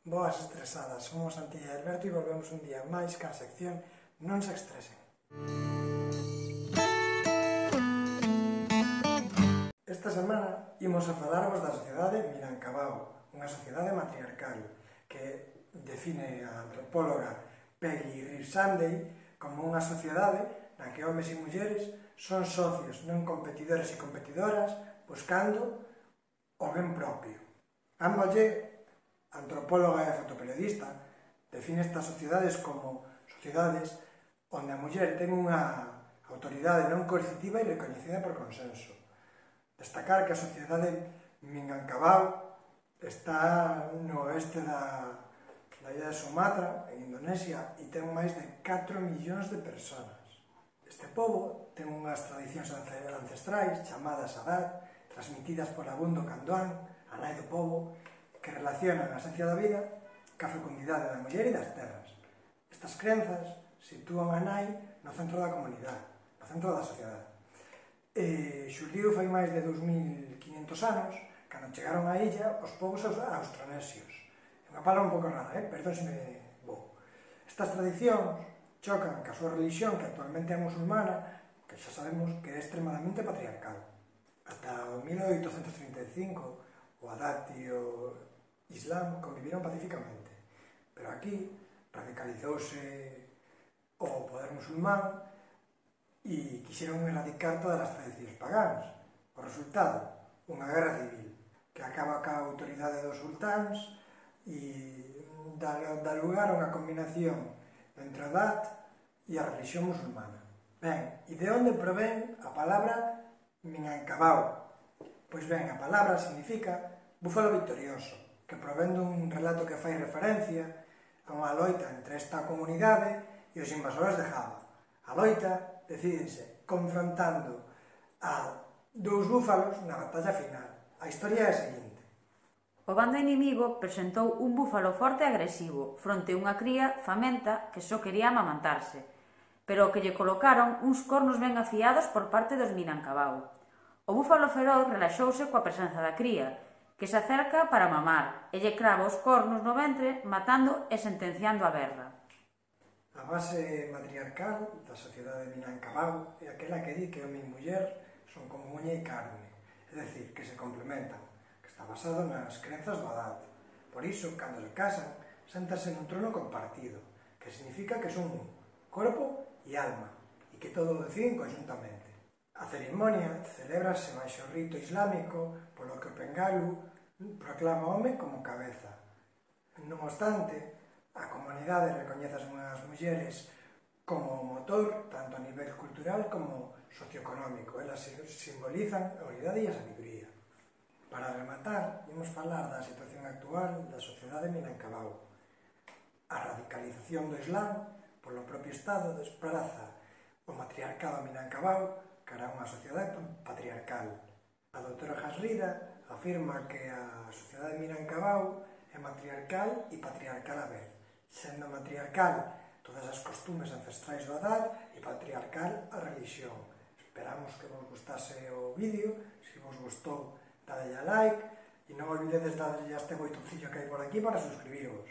Boas estresadas, somos Santi e Alberto e volvemos un día máis ca sección Non se estresen. Esta semana imos a falarvos da sociedade Minangkabau, unha sociedade matriarcal que define a antropóloga Peggy Reeves Sunday como unha sociedade na que homes e mulleres son socios, non competidores e competidoras, buscando o ben propio. Ambolle, antropóloga e fotoperiodista, define estas sociedades como sociedades onde a muller ten unha autoridade non coercitiva e recoñecida por consenso. Destacar que a sociedade Minangkabau está no oeste da illa de Sumatra, en Indonesia, e ten máis de 4 millóns de persoas. Este pobo ten unhas tradicións ancestrais chamadas Adat, transmitidas por Abundo Candoán, a nai do pobo, que relacionan a esencia da vida ca fecundidade da muller e das terras. Estas crenzas sitúan a nai no centro da comunidade, no centro da sociedade. Xurdiu fai máis de 2500 anos, cando chegaron á illa os povos austronesios. É unha palabra un pouco rara, perdón se me vou. Estas tradicións chocan ca súa religión, que actualmente é musulmana, que xa sabemos que é extremadamente patriarcal. Ata o 1835, o Adat e o Islam conviviron pacíficamente, pero aquí radicalizouse o poder musulmán e quixeron erradicar todas as tradicións pagás. O resultado, unha guerra civil que acaba ca autoridade dos sultáns e dá lugar a unha combinación entre a Adat e a religión musulmana. Ben, e de onde provén a palabra Minangkabau? Pois ben, a palabra significa búfalo victorioso, que provén dun relato que fai referencia a unha loita entre esta comunidade e os invasores de Java. A loita decídense confrontando a dous búfalos na batalla final. A historia é a seguinte. O bando inimigo presentou un búfalo forte e agresivo fronte a unha cría famenta que só quería amamantarse, pero o que lle colocaron uns cornos ben afiados por parte dos Minangkabau. O búfalo feroz relaxouse coa presenza da cría, que se acerca para mamar, e lle crava os cornos no ventre, matando e sentenciando a guerra. A base matriarcal da sociedade Minangkabau é aquela que di que home e muller son como uña e carne, é dicir, que se complementan, que está basado nas crenzas do Adat. Por iso, cando se casan, séntanse nun trono compartido, que significa que son un corpo e alma, e que todo o deciden conjuntamente. A ceremonia celébrase baixo o rito islámico, polo que o Pengalu proclama o home como cabeza. Non obstante, a comunidade recoñece as mulleres como motor, tanto a nivel cultural como socioeconómico. Elas simbolizan a unidade e a sabiduría. Para rematar, imos falar da situación actual da sociedade Minangkabau. A radicalización do Islam polo propio Estado despraza o matriarcado Minangkabau cara a unha sociedade patriarcal. A doutora Hasrida afirma que a sociedade Minangkabau é matriarcal e patriarcal a vez, sendo matriarcal todas as costumes ancestrais do Adat e patriarcal a religión. Esperamos que vos gustase o vídeo. Se vos gustou, dadelle a like e non olvidedes darlle a este botoncillo que hai por aquí para suscribirvos.